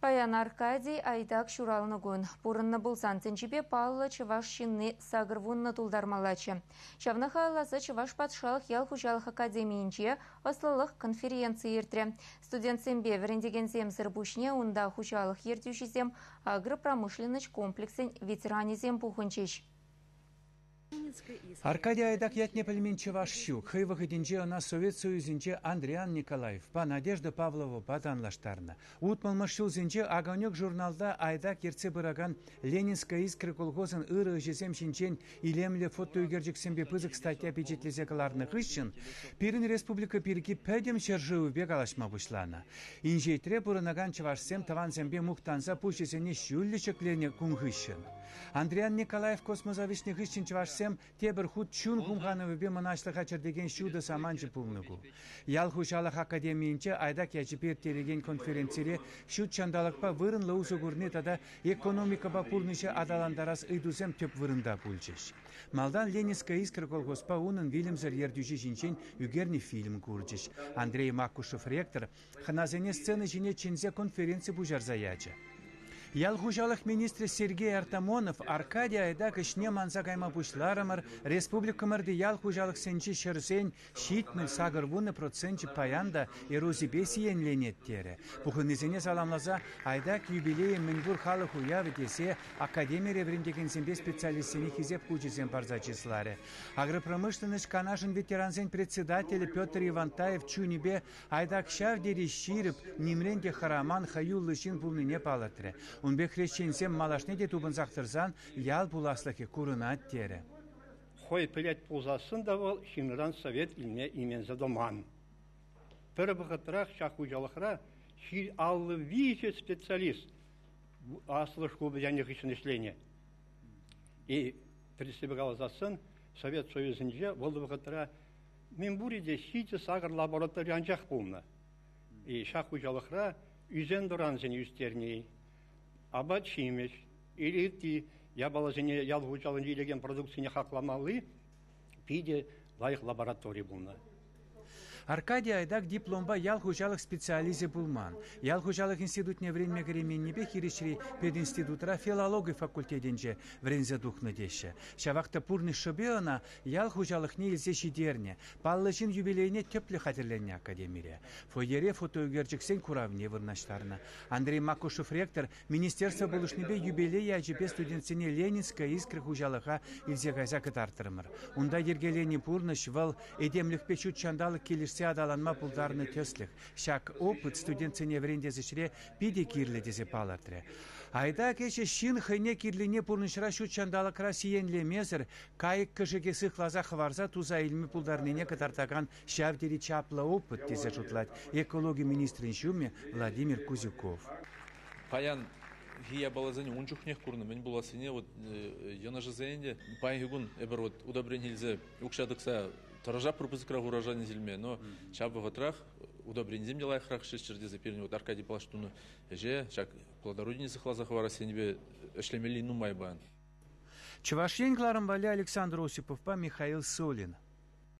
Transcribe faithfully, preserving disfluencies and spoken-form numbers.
Паян Аркадий Айдак ҫуралнӑ кун. Пурӑннӑ пулсан тӗнчипе паллӑ чӑваш ҫынни сакӑр вуннӑ тултармаллаччӗ. Ҫавна халалласа Чӑваш патшалӑх ял хуҫалӑх академийӗнче ӑслӑлӑх конференцийӗ иртрӗ. Студентсемпе вӗрентекенсемсӗр пуҫне унта хуҫалӑх ертӳҫисем, агропромышленноҫ комплексӗн ветеранӗсем пухӑнчӗҫ. Аркадий Айдак ятне пӗлмен чӑваш ҫук. Хӑй вӑхӑтӗнче ӑна Совет Союзӗнче Андриян Николаевпа, Надежда Павловӑпа танлаштарнӑ. Утмӑлмӗш ҫулсенче «Огонек» журналта Айдак ертсе пыракан «Ленинская искра» колхозӑн ырӑ ӗҫӗсем ҫинчен илемлӗ фотоӳкерчӗксемпе пысӑк статья пичетлесе кӑларнӑ хыҫҫӑн пирӗн республика пирки пӗтӗм ҫӗршывӗпе калаҫма пуҫланӑ. Инҫетре пурӑнакан чӑвашсем тӑвансемпе мухтанса пуҫӗсене ҫӳллӗ ҫӗкленӗ кун хыҫҫӑн. Андриян Николаев космоса вӗҫнӗ хыҫҫӑн чӑвашсем тепӗр хут чун хумханӑвӗпе мӑнаҫлӑха чӗртекен ҫутӑ саманчӗ пулнӑ ку. Ял хуҫалӑх академийӗнче Айдак ячӗпе ирттерекен конференцире ҫут ҫанталӑкпа вырӑнлӑ усӑ курни тата экономикӑпа пурнӑҫа аталантарас ыйтусем тӗп вырӑнта пулчӗҫ. Малтан «Ленинская искра» колхозпа унӑн вилӗмсӗр ертӳҫи ҫинчен ӳкернӗ фильм курчӗҫ. Андрей Макушев ректор хӑнасене сцена ҫине чӗнсе конференци пуҫарса ячӗ. Ял хуҫалӑх министрӗ Сергей Артамонов Аркадий Айдак ӗҫне манса кайма пуҫларӑмӑр, республикӑмӑрти ял хуҫалӑхсенчи ҫӗрсен ҫитмӗл сакӑр вунӑ проценчӗ паян та эрозипе сиенленет терӗ. Пухӑннисене саламласа Айдак юбилейӗ мӗнпур халӑх уявӗ тесе академире вӗрентекенсемпе специалистсене хисеп хучӗсем парса чысларӗ. Агропромышленноҫ канашӗн ветерансен председателӗ Петр Ивантаев чунӗпе Айдак ҫав тери ҫирӗп, нимрен те хӑраман хӑюллӑ ҫын пулнине палӑртрӗ. Ун пек хресченсем малашне те тупӑнсах тӑрсан ял пуласлӑхӗ курӑнать терӗ. Хӑй пӗлет пулсассӑн та вӑл ҫынран совет илме именсе тӑман. Пӗр вӑхӑтрах ҫак хуҫалӑхра ҫил аллӑ виҫӗ специалист аслӑ шкул пӗтернӗ хыҫҫӑн ӗҫленӗ. И тӗрӗссипе каласассӑн Совет Союзӗнче вӑл вӑхӑтра мӗн пурӗ те ҫичӗ сакӑр лаборатори анчах пулнӑ. И ҫак хуҫалӑхра ӳсен-тӑрансене ӳстерни, апат-ҫимӗҫ, ытти япаласене ял хуҫалӑхӗнче илекен продукцине хакламалли питӗ лайӑх лаборатори пулнӑ. Аркадий Айдак дипломпа ял хуҫалӑх специалисчӗ пулман. Ял хуҫалӑх институтне вӗренме кӗрейменнипе хирӗҫри пединститутра филологи факультетӗнче вӗренсе тухнӑ теҫҫӗ. Ҫавах та пурнӑҫ шӑпи ӑна ял хуҫалӑхне илсе ҫитернӗ. Паллӑ ҫын юбилейне тӗплӗ хатӗрленнӗ академире. Фойере фотоӳкерчӗксен куравне вырнаҫтарнӑ. Андрей Макушев ректор министерство пулӑшнипе юбилей ячӗпе студентсене «Ленинская искра» хуҫалӑха илсе кайса кӑтартрӑмӑр. Унта йӗркеленӗ пурнӑҫ вӑл этемлӗхпе ҫут ҫанталӑк килӗшсе аталанма пултарнӑ тӗслӗх. Ҫак опыт студентсене вӗрентес ӗҫре питӗ кирлӗ тесе палӑртрӗ. Айдак ӗҫӗ ҫын хӑйне кирлине пурнӑҫра ҫут ҫанталӑкра сиенлемесӗр, кайӑк-кӗшӗке сыхласа хӑварса туса илме пултарнине кӑтартакан ҫав тери чаплӑ опыт тесе шутлать экологи министрӗн ҫумӗ Владимир Кузюков. Паян япаласене ун чухнех курнӑ, мӗн пулассине, вот йӑнӑшӗсене те паянхи кун эпир вот удобрение илсе укҫа тӑкса тӑрӑшатпӑр пысӑкрах урожайне илме, но ҫав вӑхӑтрах удобренисем те лайӑхрах ӗҫлеччӗр тесе пирӗн вот Аркадий Павлович тунӑ ӗҫе ҫак плодородине сыхласа хӑварассинепе ӗҫлемелли нумай паян. Чӑваш Ен кӑларӑм валли Александр Осиповпа Михаил Солин.